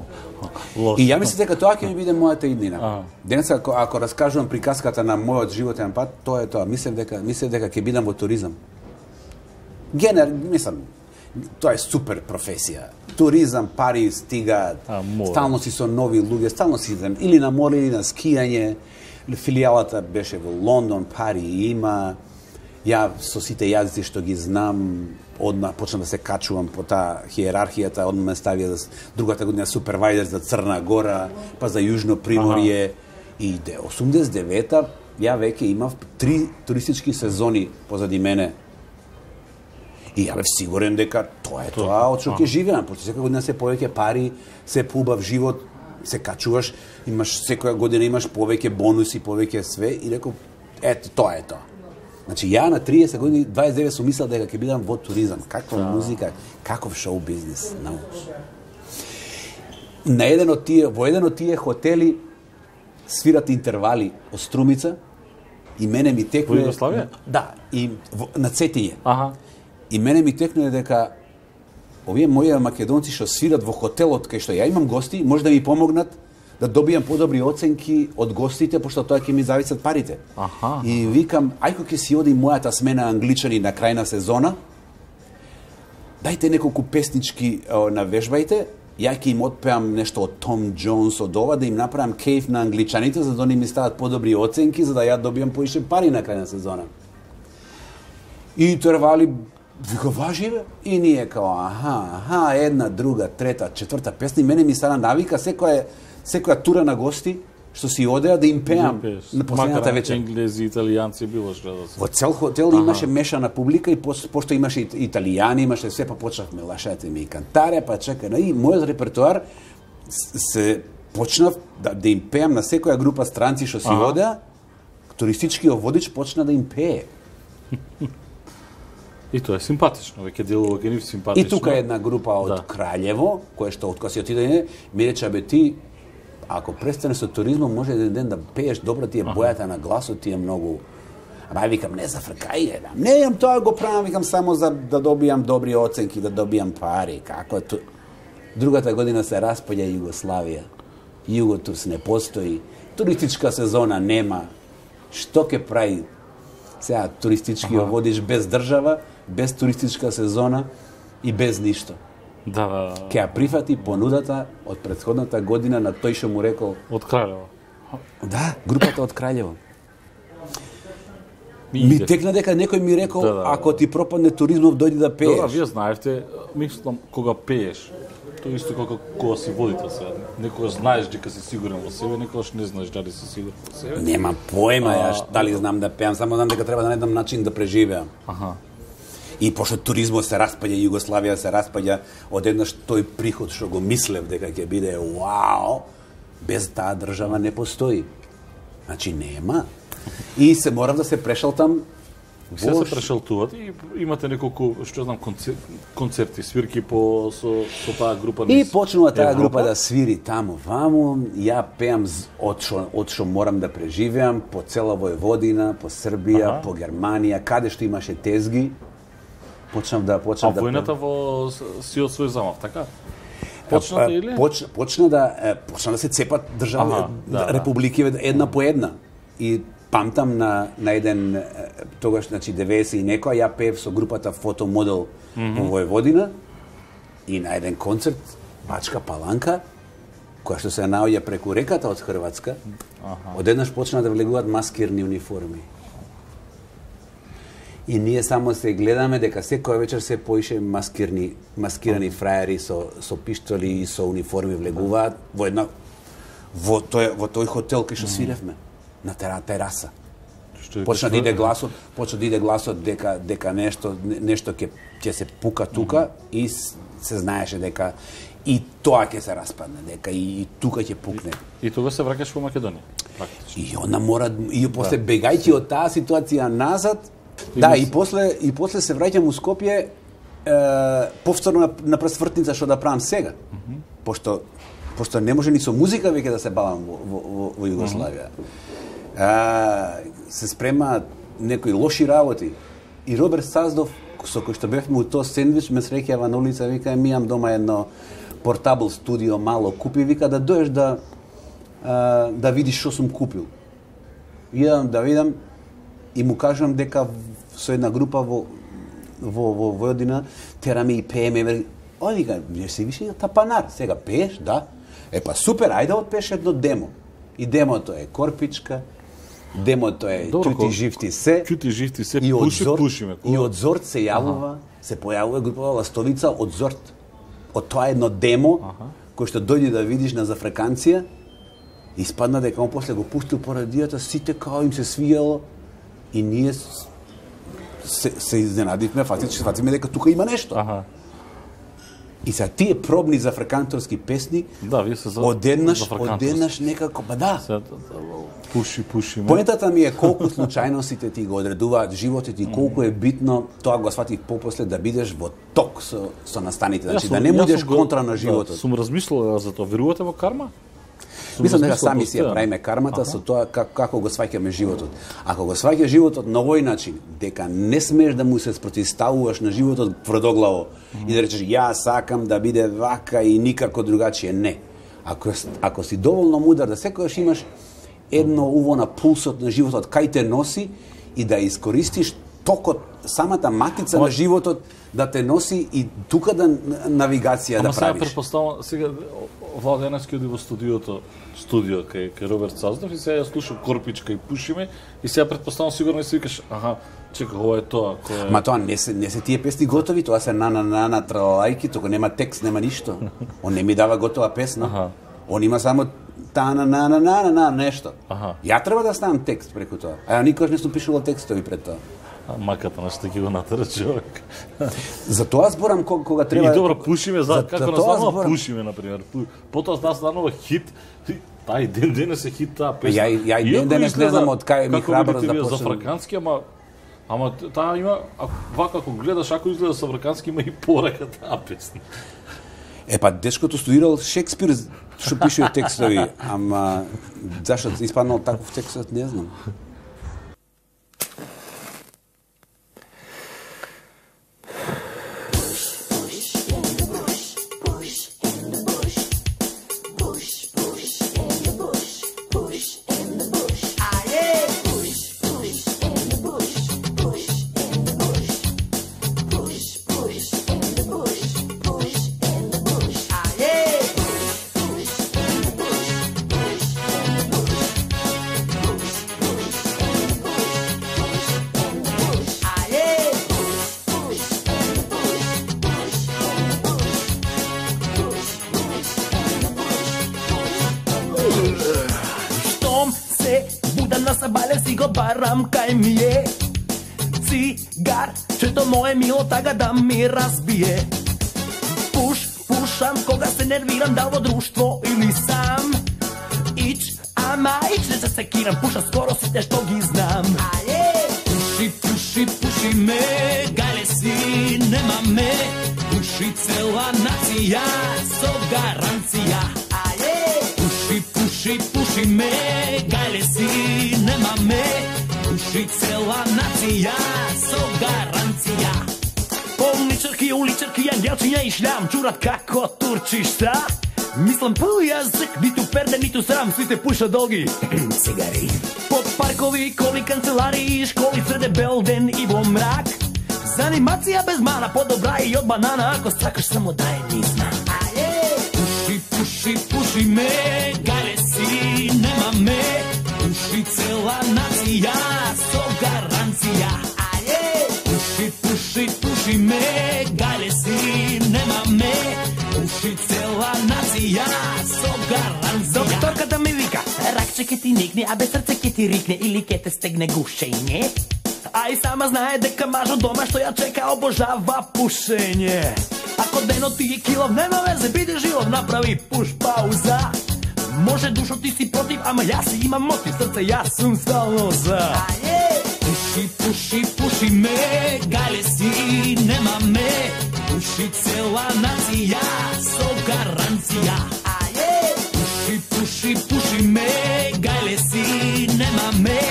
Лошо. И ја мислам дека тоа ќе ми биде мојата иднина. Ага. Денес ако, ако раскажувам приказката на мојот животен пат, тоа е тоа. Мислам дека мислам дека ќе бидам во туризам. Генер, мислам, тоа е супер професија. Туризам, пари стигаат. А, море. Стално си со нови луѓе, стално си идем или на море или на скијање. Филијалата беше во Лондон, пари има. Ја со сите јазици што ги знам, одма почнав да се качувам по таа хиерархијата, одма ме ставија за другата година супервајзер за Црна Гора, па за Јужно Приморје. Ага. И де осумдесет и девета ја веќе имав три туристички сезони позади мене. И ја бев сигурен дека тоа е тоа од што ќе живеам, пошто секоја година се повеќе пари, се поубав живот, се качуваш, имаш секоја година имаш повеќе бонуси, повеќе све и реков ето тоа е тоа. Значи ја на триесет години, дваесет и девет сум мислел дека ќе бидам во туризам, каква музика, каков шоу бизнис, научи. На еден од тие, во еден од тие хотели свират интервали од Струмица и мене ми текне... Во Југославија? Да, и во, на Цетиње. Аха. И мене ми текне дека овие мои македонци што свират во хотелот кај што ја имам гости, може да ми помогнат да добијам подобри оценки од гостите, пошто тоа ќе ми зависат парите. Аха. И викам, ајко ќе си оди мојата смена англичани на крај на сезона, дајте неколку песнички о, навежбајте, ја ќе им отпеам нешто од Том Джонс, од ова, да им направам кейф на англичаните, за да они ми стават подобри оценки, за да ја добијам поише пари на крај на сезона. И интервали, вика, важи бе? И ние као, аха, аха, една, друга, трета, четврта песна, и мене ми стана навика, секоја, секоја тура на гости, што си одеа да им пеам на последната вечер. Енглези, италијанци, било што да се. Во цел хотел имаше мешана публика и пос, пошто имаше ит- италијани, имаше све, па почнавме лашате ми и кантаре, па чекај, и мојот репертоар с- се почнав да, да им пеам на секоја група странци што си одеа, туристичкиот водич почна да им пее. И тоа е симпатично, веќе делува ке нив симпатично. И тука е една група од Да. Краљево, која што од кога си отиде, ми рече, бе ти, ако престанеш со туризмом, може еден ден да пееш добро, ти е бојата на гласот, ти е многу... Ама ја викам, не за фркај, е, не јам тоа го правам, викам само за да добијам добри оценки, да добијам пари, како ту... Другата година се распаѓа Југославија. Југотурс не постои, туристичка сезона нема. Што ќе прави? Сега туристички ја водиш без држава, без туристичка сезона и без ништо. Да, да, Ке ја прифати понудата од претходната година на тој што му рекол. од Краљево. Да, групата од Краљево. И Ми иде. текна дека некој ми рекол, Да, да, да. ако ти пропадне туризмов, дојди да пееш. Добра, вие знаевте, мислам, кога пееш, тоа исто како кога си водител сега. Некогаш знаеш дека си сигурен во себе, некогаш не знаеш дали си сигурен во себе. Нема поема А, јас дали знам да пеам, само знам дека треба да најдам начин да преживеам. Аха. И пошто туризмот се распаѓа, Југославија се распаѓа, одеднаш тој приход што го мислев дека ќе биде вау, без таа држава не постои. Значи нема. И се морав да се прешалтам. Се во се прешалтуват и имате неколку, што знам, концерти, концерти свирки по со со таа група И низ почнува таа Европа. група да свири таму ваму, ја пеам з- од што од што морам да преживеам по цела Војводина, по Србија, Аха. по Германија, каде што имаше тезги. Почнав да А почнав да војната во с- си од свој замав, така? Почната А, или? Поч, почна да е, почна да се цепат држави, Аха, да, да. републики една по една. И памтам на на еден е, тогаш значи деветдесет и некоја ја пеев со групата Фотомодел mm -hmm. во Војводина и на еден концерт Бачка Паланка која што се наоѓа преку реката од Хрватска. Аха. Одеднаш почна да влегуваат маскирни униформи. И ние само се гледаме дека секоја вечер се поише маскирни, маскирани фраери со со пиштоли и со униформи влегуваат во една во тој во тој хотел кај што свиревме на тера тераса. Што е Почна да што- иде гласот, почна да иде гласот дека дека нешто нешто ќе ќе се пука тука и с- се знаеше дека и тоа ќе се распадне, дека и, и тука ќе пукне. И тога се враќаш во Македонија, практично. И она мора и после бегајќи од таа ситуација назад, И да, мис- и после и после се враќам у Скопје е, повторно на, на пресвртница што да правам сега. Пошто пошто не може ни со музика веќе да се бавам во во, во, во Југославија. А, се спрема некои лоши работи. И Роберт Саздов, со кој што бевме у тоа сендвич, ме среќава на улица, вика, ми имам дома едно портабл студио, мало купи, вика, да доеш да а, да видиш што сум купил. Идам да видам и му кажам дека со една група во во во Војодина тераме и пееме. вели, О, вика, не си више тапанар, сега пееш, да. Е па супер, ајде отпееш едно демо. И демото е Корпичка, демото е Добро, Чути ко- живти се. Чути живти се, И од пуши, Зорт, пушиме. и од Зорт се јавува, се појавува група Ластовица од Зорт. Од тоа едно демо, кој што дојде да видиш на зафреканција, испадна дека он после го пуштил по радијата, сите као им се свијало и ние с- се, се изненадивме, фактички фатиме дека тука има нешто. Аха. И са тие пробни зафреканторски песни, Да, вие се за одеднаш, зафркантост. одеднаш некако, па да. Се, пуши, пуши. Поентата ми е колку случајностите ти го одредуваат животот и колку е битно, тоа го сватив попосле, да бидеш во ток со, со настаните, значи да не будеш контра на животот. Да, сум размислувал за тоа. Верувате во карма? Сум Мислам дека размислувал сами си ја постојано. правиме кармата со тоа как, како го сваќаме животот. Ако го сваќаш животот на овој начин, дека не смееш да му се спротивставуваш на животот тврдоглаво и да речеш ја сакам да биде вака и никако другачие, не. Ако ако си доволно мудар да секогаш имаш едно уво на пулсот на животот кај те носи и да искористиш токот, самата матица на животот да те носи и тука да навигација Ама да сега правиш. предпоставам, сега Владо Јаневски оди во студиото, студио кај, кај Роберт Саздов и сега ја слушам Корпичка и пушиме и сега предпоставам сигурно си викаш, аха, чека, ова е тоа, кој е... Ма тоа не се не се тие песни готови, тоа се на на на на тралајки, тука нема текст, нема ништо. Он не ми дава готова песна. Аха. Он има само та на на на на на на нешто. Аха. Ја треба да ставам текст преку тоа. А ја никогаш не сум пишувал текстови пред тоа. А, маката на што ќе го натера човек. За тоа зборам кога, кога треба. И добро, пушиме, за, за- како за на тоа станува зборам. пушиме, например. Пу- Потоа нас станува хит, и тај ден денес е хит таа песна. Ја и- ја и ден Иако денес не изгледа знам од кај ми како храброст видите да вие почнам. за фракански, ама Ама таа има, ако вака ако гледаш, ако изгледа савркански, има и порака таа песна. Е, па, дечкото студирал Шекспир, што пишува текстови, ама зашто испаднал таков текстот, не знам. Барам кај ми е цигар, чето моje мило тага да ми разбие. Пуш, пушам кога се нервирам, да во друштво или сам. Ич, ама ич не се секирам, пуша скоро сите што ги знам. Пуши, пуши, пуши ме, гајле си, нема ме. Пуши цела нација, со гаранција. Пуши, пуши, пуши ме, гајле си, нема ме. Пуши цела нација, со гаранција. Полничарки, уличарки, ангелчиња и шлям, чурат како турчишта. Мислам пол јазик, ниту перде, ниту срам, сите пушат долги цигари. Под паркови, коли, канцелари, школи, среде бел ден и во мрак. Занимација без мана, подобра и од банана, ако сакаш само да е низна. Пуши, пуши, пуши ме, гајле си, нема ме. Пуши цела нација, со гаранција. Пуши, пуши, пуши ме, гајле си, нема ме. Пуши цела нација, со гаранција. Докторката ми вика, ракче ке ти никне, а без срце ке ти рикне или ке те стегне гушење. А и сама знае дека мажот дома што ја чека обожава пушење. Ако денот ти е килов, нема везе, биде жилов, направи пуш пауза. Може душо ти си против, ама јас си имам мотив, срце јас сум стално за. Пуши, пуши, пуши ме, гајле си, нема ме. Пуши цела нација, со гаранција. Пуши, пуши, пуши ме, гајле си, нема ме.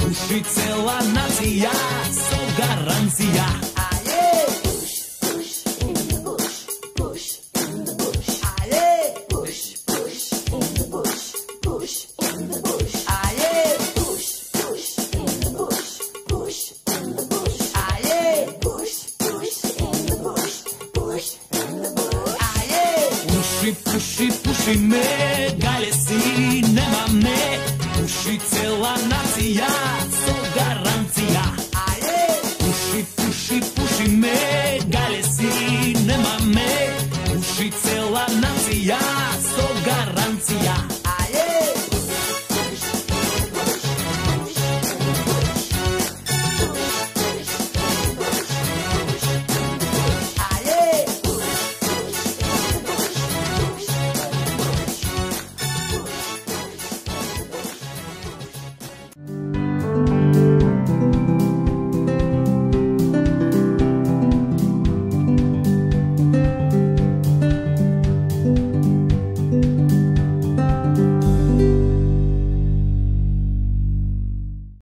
Пуши цела нација, со гаранција. Pushi me